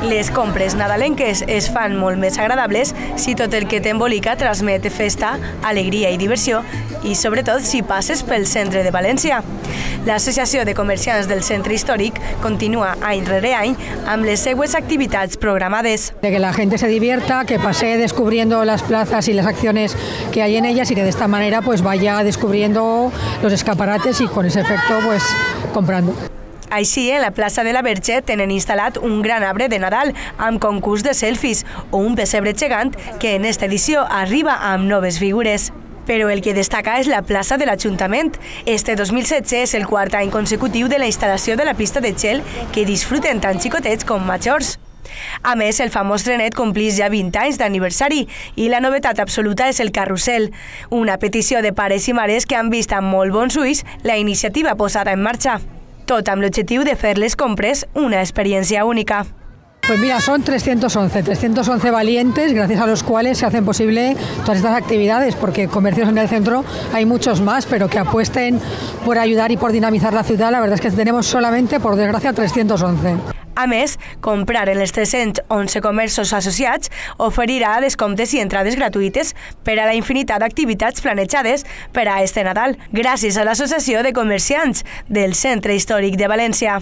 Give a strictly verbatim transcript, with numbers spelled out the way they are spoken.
Les compres nadalenques es fan molt més agradables si tot el que t'embolica transmet festa, alegria i diversió i sobretot si passes pel centre de València. L'Associació de Comerciants del Centre Històric continua any rere any amb les següents activitats programades. De que la gente se divierta, que pase descubriendo las plazas y las acciones que hay en ellas y que de esta manera pues vaya descubriendo los escaparates y con ese efecto pues comprando. Així, en la plaça de la Verge tenen instal·lat un gran arbre de Nadal amb concurs de selfies o un pessebre gegant que en esta edició arriba amb noves figures. Però el que destaca és la plaça de l'Ajuntament. Este dos mil setze és el quart any consecutiu de la instal·lació de la pista de gel que disfruten tant xicotets com majors. A més, el famós trenet complís ja vint anys d'aniversari i la novetat absoluta és el carrusel, una petició de pares i mares que han vist amb molt bons ulls la iniciativa posada en marxa. Tot amb l'objectiu de fer les compres una experiencia única. Pues mira, son trescientos once, trescientos once valientes, gracias a los cuales se hacen posible todas estas actividades, porque comercios en el centro hay muchos más, pero que apuesten por ayudar y por dinamizar la ciudad, la verdad es que tenemos solamente, por desgracia, trescientos once. A més, comprar en els tres-cents onze comerços associats oferirà descomptes i entrades gratuïtes per a la infinitat d'activitats planejades per a este Nadal, gràcies a l'Associació de Comerciants del Centre Històric de València.